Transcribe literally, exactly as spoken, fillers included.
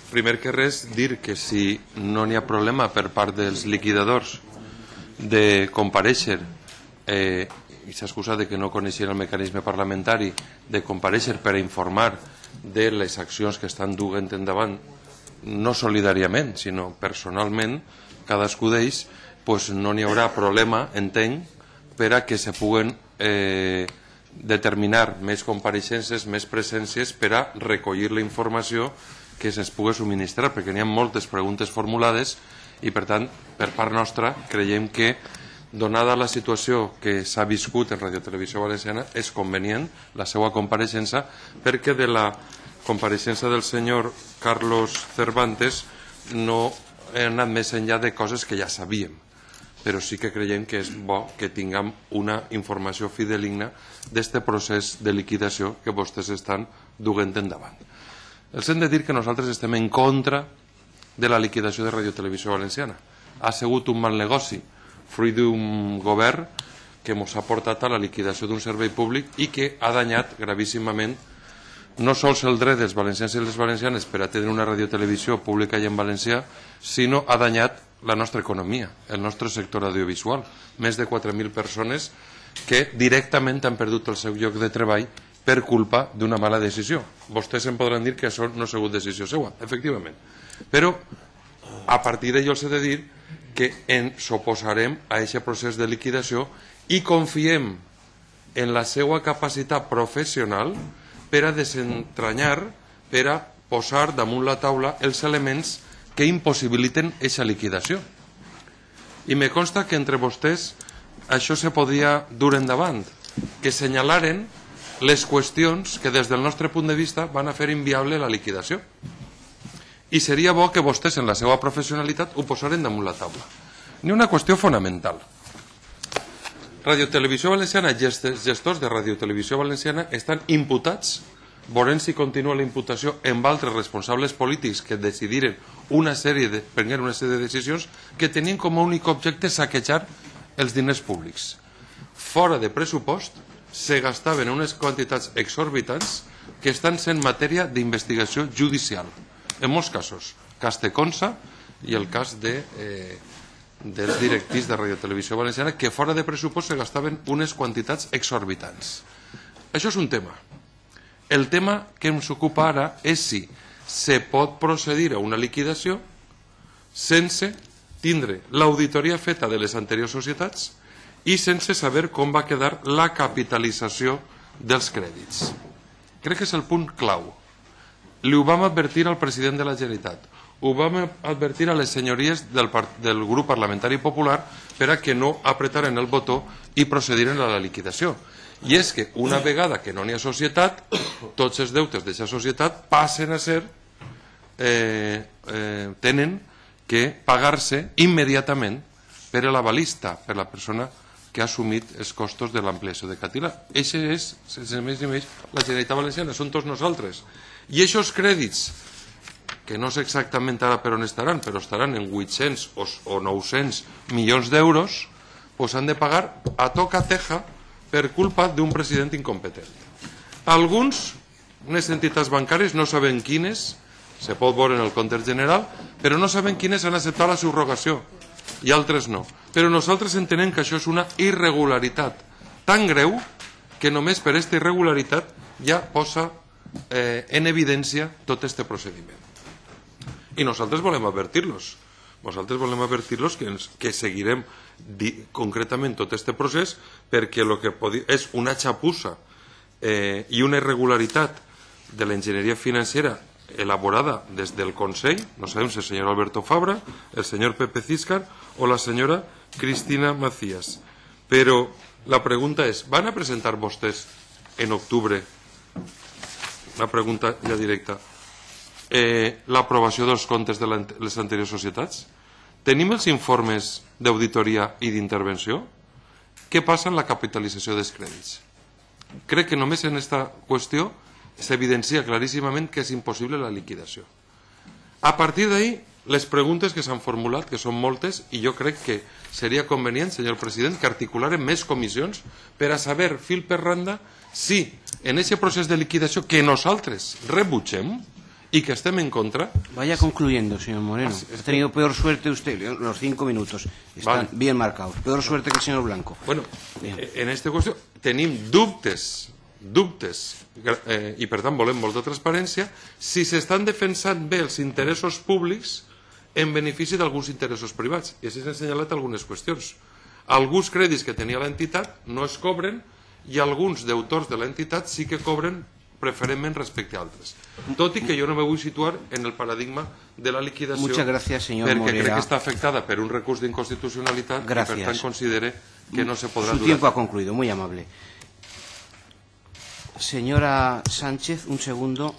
Primer que res, dir que si no n'hi ha problema per part dels liquidadors de comparèixer, eh, i s'excusa de que no coneixien el mecanisme parlamentari, de comparèixer per a informar de les accions que estan duent endavant, no solidàriament, sinó personalment, cadascú d'ells, pues no n'hi haurà problema, entenc, per a que se puguen eh, determinar més compareixences, més presències per a recollir la informació que se'ns pugui subministrar, perquè n'hi ha moltes preguntes formulades i, per tant, per part nostra, creiem que, donada la situació que s'ha viscut en Radio Televisió Valenciana, és convenient la seva compareixença, perquè de la compareixença del senyor Carlos Cervantes no he anat més enllà de coses que ja sabíem, però sí que creiem que és bo que tinguem una informació fideligna d'aquest procés de liquidació que vostès estan duent endavant. Els hem de dir que nosaltres estem en contra de la liquidació de Radio Televisió Valenciana. Ha sigut un mal negoci, fruit d'un govern que ens ha portat a la liquidació d'un servei públic i que ha danyat gravíssimament no sols el dret dels valencians i les valencianes per a tenir una radiotelevisió pública i en valencià, sinó ha danyat la nostra economia, el nostre sector audiovisual. Més de quatre mil persones que directament han perdut el seu lloc de treball per culpa d'una mala decisió. Vostès em podran dir que això no ha sigut decisió seva, efectivament. Però a partir d'allò els he de dir que ens oposarem a aquest procés de liquidació i confiem en la seva capacitat professional per a desentranyar, per a posar damunt la taula els elements que impossibiliten aquesta liquidació. I me consta que entre vostès això se podria dur endavant, que senyalaren les qüestions que des del nostre punt de vista van a fer inviable la liquidació. I seria bo que vostès en la seva professionalitat ho posaren damunt la taula. N'hi ha una qüestió fonamental. Radio Televisió Valenciana, gestors de Radio Televisió Valenciana estan imputats, veurem si continua la imputació amb altres responsables polítics que decidiren una sèrie de, prengueren una sèrie de decisions que tenien com a únic objecte saquejar els diners públics. Fora de pressupost se gastaven unes quantitats exorbitants que estan sent matèria d'investigació judicial. En molts casos, cas de Consa i el cas de, eh, dels directius de Radio Televisió Valenciana, que fora de pressupost se gastaven unes quantitats exorbitants. Això és un tema. El tema que ens ocupa ara és si se pot procedir a una liquidació sense tindre l'auditoria feta de les anteriors societats i sense saber com va quedar la capitalització dels crèdits. Crec que és el punt clau. Li ho vam advertir al president de la Generalitat, ho vam advertir a les senyories del, del grup parlamentari popular per a que no apretaren el botó i procediren a la liquidació. I és que una vegada que no n'hi ha societat, tots els deutes d'aquesta societat passen a ser, eh, eh, tenen que pagar-se immediatament per l'avalista, per la persona que ha assumit els costos de l'ampliació de Catila. Això és, sense més ni menys, la Generalitat Valenciana, són tots nosaltres. I aquests crèdits, que no sé exactament ara per on estaran, però estaran en vuit-cents o nou-cents milions d'euros, doncs han de pagar a toca teja per culpa d'un president incompetent. Alguns, unes entitats bancàries, no saben quines, se pot veure en el compte general, però no saben quines han acceptat la subrogació, i altres no. Però nosaltres entenem que això és una irregularitat tan greu que només per aquesta irregularitat ja posa eh, en evidència tot aquest procediment. I nosaltres volem advertir-los. Nosaltres volem advertir-los que, ens, que seguirem di, concretament tot aquest procés perquè el que podi, és una xapussa eh, i una irregularitat de l'enginyeria financera elaborada des del Consell, no sabem si el senyor Alberto Fabra, el senyor Pepe Císcar o la senyora Cristina Macías. Però la pregunta és, van a presentar vostès en octubre, una pregunta ja directa, eh, l'aprovació dels comptes de les anteriors societats? Tenim els informes d'auditoria i d'intervenció? Què passa en la capitalització dels crèdits? Crec que només en aquesta qüestió s'evidencia claríssimament que és impossible la liquidació. A partir d'ahí, les preguntes que s'han formulat, que són moltes, i jo crec que seria convenient, senyor president, que articularen més comissions per a saber, fil per randa, si en aquest procés de liquidació que nosaltres rebutgem y que estem en contra... Vaya concluyendo, señor Moreno. Ah, ha tenido peor suerte usted, los cinco minutos están vale. bien marcados. Peor suerte que el señor Blanco. Bueno, bien. En aquesta qüestió tenim dubtes, dubtes, eh, i per tant volem molta transparència, si s'estan defensant bé els interessos públics en benefici d'alguns interessos privats. I així s'han assenyalat algunes qüestions. Alguns crèdits que tenia l'entitat no es cobren i alguns deutors de l'entitat sí que cobren preferentment respecte a altres. Tot i que jo no me vull situar en el paradigma de la liquidació gracias, perquè Morera. crec que està afectada per un recurs d'inconstitucionalitat i per tant considere que no se podrà Su durar. tiempo ha concluido, muy amable. Señora Sánchez, un segundo.